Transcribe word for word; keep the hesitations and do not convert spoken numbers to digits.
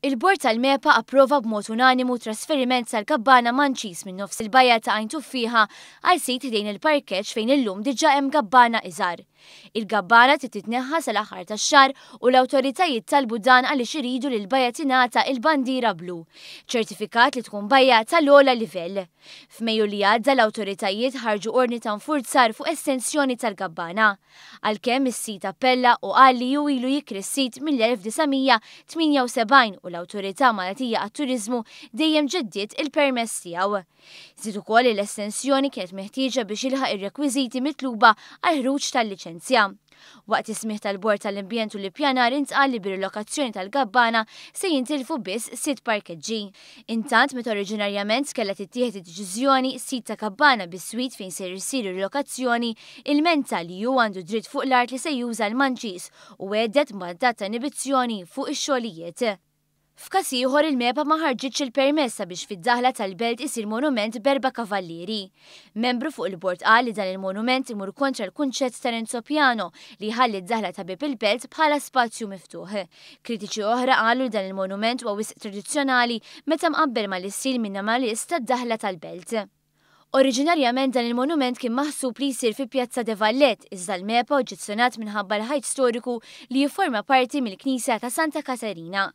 Il-Bord tal-MEPA approva b'mod unanimu trasferiment tal-kabbana Manċis minn nofs il-bajja ta' Għajn Tuffieħa għal sit ħdejn il-parkeġġ fejn illum diġà hemm gabbana iżgħar. Il-gabbana trid titneħħa sal-aħħar tax-xahar u l-awtoritajiet talbu dan għaliex iridu li l-bajja tingħata il-bandiera blu, ċertifikat li tkun bajja tal-ogħla livell. F'Mejju li għadda l-awtoritajiet ħarġu ordni ta' nfurzar fuq estensjoni tal-gabbana. Għalkemm is-sid appella u qal li hu ilu jikri s-sit mill-elf disa' mija tmienja u sebgħin u l-Awtorità Maltija għat-Turiżmu dejjem ġeddiet il-permess tiegħu. Żied ukoll li l-estensjoni kienet meħtieġa biex jilħaq ir-rekwiżiti mitluba għall-ħruġ tal-liċenzja. Waqt is-smigħ tal-Bord tal-Ambjent u l-Ippjanar intqal li bir-rilokazzjoni tal-gabbana se jintilfu biss sitt parkeġġi. Intant, meta oriġinarjament kellha tittieħed id-deċiżjoni, sit ta' kabbana bis-swit fejn se jsir ir-rilokazzjoni, ilmenta li hu għandu dritt fuq l-art li se juża l-Manċis u għedet mandat ta' inibizzjoni fuq ix-xogħlijiet. F'każ ieħor il-MEPA ma ħarġitx il-permess sabiex fid-daħla tal-belt isir monument b'erba' kavallieri. Membru fuq il-bord qal li dan il-monument imur kontra l-kunċett ta' Renzo Piano li jħalli d-daħla ta' bieb il-belt bħala spazju miftuħ. Kritiċi oħra qalu li dan il-monument huwa wisq tradizzjonali meta mqabbel mal-istil minimalist tad-daħla tal-belt. Oriġinarjament dan il-monument kien maħsub li jsir fi Pjazza de Vallet, iżda l-MEPA oġġezzjonat minħabba l-ħajt storiku li jifforma parti mill-Knisja ta' Santa Katerina.